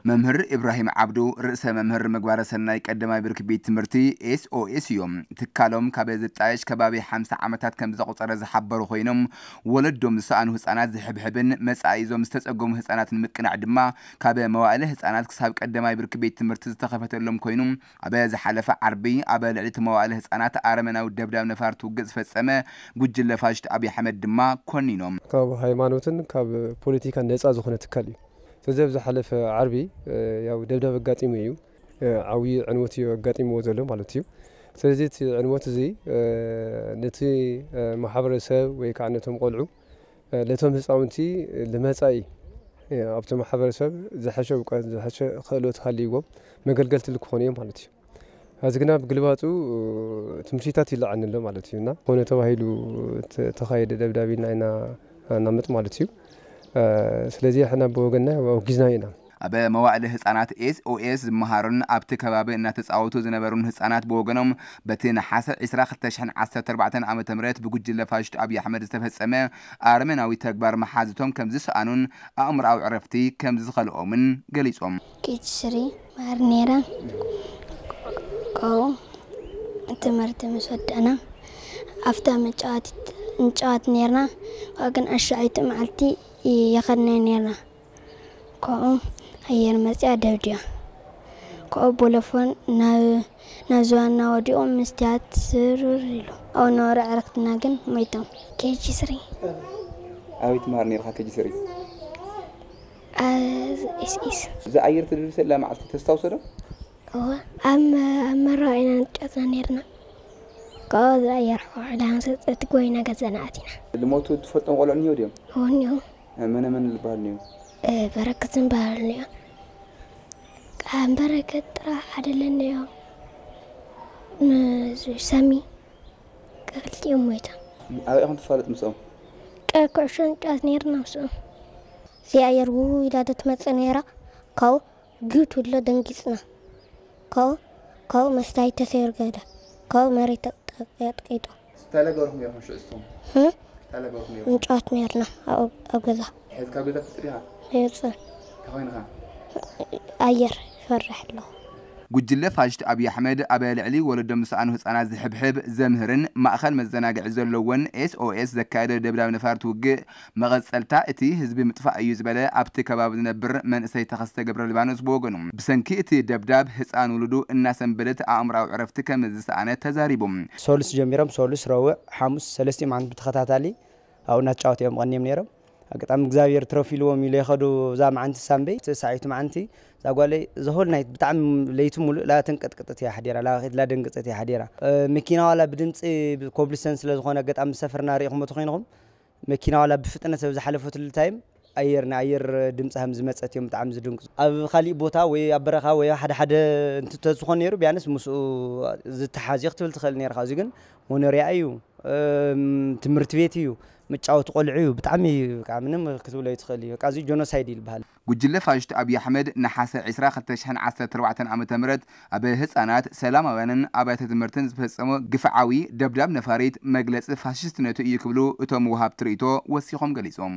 መምህር ኢብራሂም ዓብዱ፣ ርእሰ መምህር ምግባረ ሰናይ ቀዳማይ ብርኪ ቤት ትምህርቲ ኤስኦኤስ እዮም። ትካሎም ካብ ዝጣየሽ ከባቢ ሓምሳ ዓመታት ከም ዘቑጸረ ዝሓበሩ ኮይኖም፣ ወለዶም ዝሰኣኑ ህጻናት ዝሕብሕብን መጻኢ እዞም ዝተጸገሙ ህጻናት ንምቅናዕ ድማ ካብ መዋእለ ህጻናት ክሳብ ቀዳማይ ብርኪ ቤት ትምህርቲ ዝተኸፈተሎም ኮይኑ፣ ኣብ ዝሓለፈ ዓርቢ ኣብ ልዕሊ እቲ መዋእለ ህጻናት ኣረመናዊ ደብዳብ ነፋርቲ ውግእ ዝፈጸመ ጉጅለ ፋሽስት ኣብይ ኣሕመድ ድማ ኮኒኖም። ካብ ሃይማኖትን ካብ ፖለቲካን ነጻ ዝኾነ ትካል እዩ። ስለዚ ኣብ ዝሓለፈ ዓርቢ፣ እ፣ ያው ደብዳብ ኣጋጢሙ እዩ። እ፣ ዓብዪ ዕንወት እዩ ኣጋጢምዎ ዘሎ ማለት እዩ። ስለዚ እቲ ዕንወት እዚ፣ እ፣ ነቲ፣ እ፣ ማሕበረሰብ ወይ ከዓ ነቶም ቆልዑ፣ እ፣ ነቶም ህፃውንቲ ንመፃኢ፣ እ፣ ኣብቲ ማሕበረሰብ ዝሐሸ እውቀት፣ ዝሐሸ ክእለት ሃልይዎም መገልገልቲ ክኾኑ እዮም ማለት እዩ። እዚ ግና ብግልባጡ ትምህርቲታት ይለዓል ኣሎ ማለት እዩ። እና ኮነ ተባሂሉ ተ-፣ ተኻየደ ደብዳብ ኢልና ኢና እናምጥ ማለት እዩ። እ፣ ስለዚ ሕና ብወገንና ኣውጊዝና ኢና። ኣብ መዋእለ ህጻናት ኤስኦኤስ ዝመሃሩን ኣብቲ ከባቢ እናተጻወቱ ዝነበሩን ህጻናት ብወገኖም፣ በቲ ነሓሰ ዕስራ ክልተ ሽሕን ዓሰርተ ኣርባዕተን ዓመተ ምህረት ብጉጅለ ፋሽስት ኣብይ ኣሕመድ ዝተፈጸመ ኣረመናዊ ተግባር መሓዙቶም ከም ዝሰኣኑን ኣእምሮኣዊ ዕረፍቲ ከም ዝኸልኦምን ገሊጾም። ኬጂ ስሪ ማር ነይረ። ካብኡ ትምህርቲ ምስ ወደእና ኣብታ መጫወቲት ንጫወት ነይርና። ካብኡ ግን ኣሻዓይቲ መዓልቲ ይኸድና ነይርና። ካብኡ ኣየር መፅያ ደብድያ። ካብኡ ቦሎፎን ናብ ናብ ዝባና ወዲቑ መስትያት ስርር ኢሉ። ኣብኡ ነበሩ ኣዕርኽትና ግን ሞይቶም። ኬጂ ስሪ። ኣበይ ትመሃር ነይርኻ ኬጂ ስሪ? ኣብ ኤስኤስ። እዛ ኣየር ትድብሰላ መዓልቲ ተስታውሶ ዶ? እወ፣ ኣብ መ-፣ ኣብ መረባ ኢና ንጫወትና ነይርና። ካብኡ እዛ ኣየር ሓውሓዳ ምስ ወፀት ጎይና ገዛና ኣቲና። ልሞቱ ትፈልጦም ቆልዑ እኒሄው ድዮም? እወ፣ እኒሄው። መነ መን ዝበሃሉ እኒሄው? እ፣ በረከት ዝበሃሉ እኒሄው። ቃም በረከት ጥራሕ ሓደ ለኒሄው። ም-፣ ሰሚ ክልቲኦም ሞይቶም። ኣበይ ኢኹም ትፋለጡ ምስኦም? ቀ-፣ ኩዕሾ ንጫወት ነይርና ምስኦም። እዚኣ ኣየር ውው ኢላ ዶ ትመጽእ ነይራ። ካብኡ ግብ ትብሎ ደንጊጽና። ካብኡ፣ ካብኡ መስታይት ተሰይሩ ገዳ። ካብኡ መሬት ተጠቂጡ። እንታይ ለገርኩም ነይርኩም ሽዑ እስኹም? ህም? እንታይ ለገርኩም ነይርኩም? ንጫወት ነይርና ኣብ፣ ኣብ ገዛ። ሕዝካ ገዛ ትፍጥር ኢኻ? ይወጽእ። እንታይ ኮይንኻ? ኣየር ይፈርሕ ኣለኹ። ጉጅለ ፋሽስት ኣብይ ኣሕመድ ኣብ ልዕሊ ወለዶም ዝሰኣኑ ህጻናት ዝሕብሕብ፣ ዘምህርን ማእኸል መዘናግዒ ዘለዎን ኤስኦኤስ ዘካየዶ ደብዳብ ነፋርት ውግእ መቐጸልታ እቲ ህዝቢ ምጥፋእ እዩ ዝበለ ኣብቲ ከባቢ ዝነብር መንእሰይ ተኸስተ ገብረ ሊባኖስ ብወገኑ፣ ብሰንኪ እቲ ደብዳብ ህጻን ውሉዱ እናሰንበደት ኣእምራዊ ዕረፍቲ ከም ዝሰኣነ ተዛሪቡ። ሶሉስ ጀሚሮም ሶሉስ፣ ረቡዕ፣ ሓሙስ ሰለስቲኦም ዓመት ብተኸታታሊ ኣብኡ እናተጫወቱ እዮም ቀንዮም ነይሮም። ኣጋጣሚ እግዚኣብሔር ትረፍ ኢልዎም ኢሉ የኸዱ እዛ መዓንቲ ሳምበይ፣ እቲ ሳዒቱ መዓንቲ እዛ ጓለይ ዘሆል ናይት ብጣዕሚ ለይቲ ሙሉእ ላተንቀጥቅጥት እያ ሓዲራ፣ ላኸት ላደንግጸት እያ ሓዲራ። እ፣ መኪና ዋላ ብድምፂ ኮብልስተን ስለ ዝኾነ ኣጋጣሚ ዝሰፈርና ርኢኹሞ ተኾይንኹም፣ መኪና ዋላ ብፍጥነት ኣብ ዝሓለፈትሉ ታይም ኣየር፣ ናይ ኣየር ድምፂ ከም ዝመፀት እዮም ብጣዕሚ ዝድንግፁ። ኣብ ካሊእ ቦታ ወይ ኣብ በረኻ ወይ ሓደ ሓደ እንትተዝኾን ነይሩ ቢያንስ ምስኡ ዝተሓዝዮ ክትብል ትኽእል ነይርካ። እዚ ግን መኖርያ እዩ፣ እም፣ ትምህርቲ ቤት እዩ፣ መጫወቲ ቆልዑ እዩ። ብጣዕሚ እዩ፣ በቃ ምንም ክትብሎ ኣይትኽእል እዩ። በቃ እዚ ጆኖሳይድ ይልበሃል። ጉጅለ ፋሽስት ኣብይ ኣሕመድ ነሓሰ ዕስራ ክልተ ሽሕን ዓሰርተ ኣርባዕተን ዓመተ ምህረት ኣብ ህጻናት፣ ሰላማውያንን ኣብያተ ትምህርትን ዝፈጸሞ ግፍዓዊ ደብዳብ ነፋሪት መግለጺ ፋሽስትነቱ እዩ ክብሉ እቶም ወሃብቲ ርእይቶ ወሲኾም ገሊጾም።